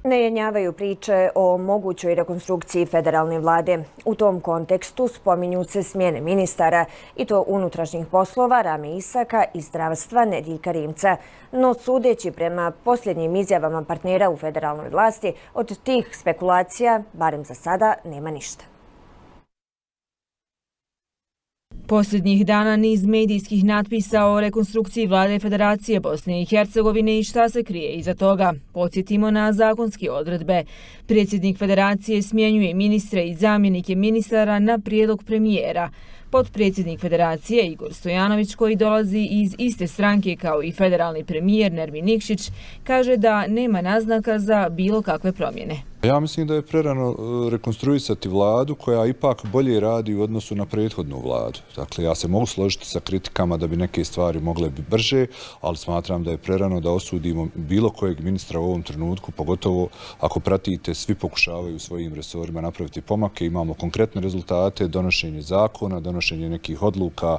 Ne jenjavaju priče o mogućoj rekonstrukciji federalne vlade. U tom kontekstu spominju se smjene ministara, i to unutrašnjih poslova Rame Isaka i zdravstva Nediljka Rimca. No sudeći prema posljednjim izjavama partnera u federalnoj vlasti, od tih spekulacija, barem za sada, nema ništa. Posljednjih dana niz medijskih natpisa o rekonstrukciji vlade Federacije Bosne i Hercegovine i šta se krije iza toga. Podsjetimo na zakonske odredbe. Predsjednik Federacije smjenjuje ministre i zamjenike ministara na prijedlog premijera. Potpredsjednik Federacije Igor Stojanović, koji dolazi iz iste stranke kao i federalni premijer Nermin Nikšić, kaže da nema naznaka za bilo kakve promjene. Ja mislim da je prerano rekonstruisati vladu koja ipak bolje radi u odnosu na prethodnu vladu. Dakle, ja se mogu složiti sa kritikama da bi neke stvari mogle biti brže, ali smatram da je prerano da osudimo bilo kojeg ministra u ovom trenutku, pogotovo ako pratite, svi pokušavaju u svojim resorima napraviti pomake, imamo konkretne rezultate, donošenje zakona, donošenje nekih odluka.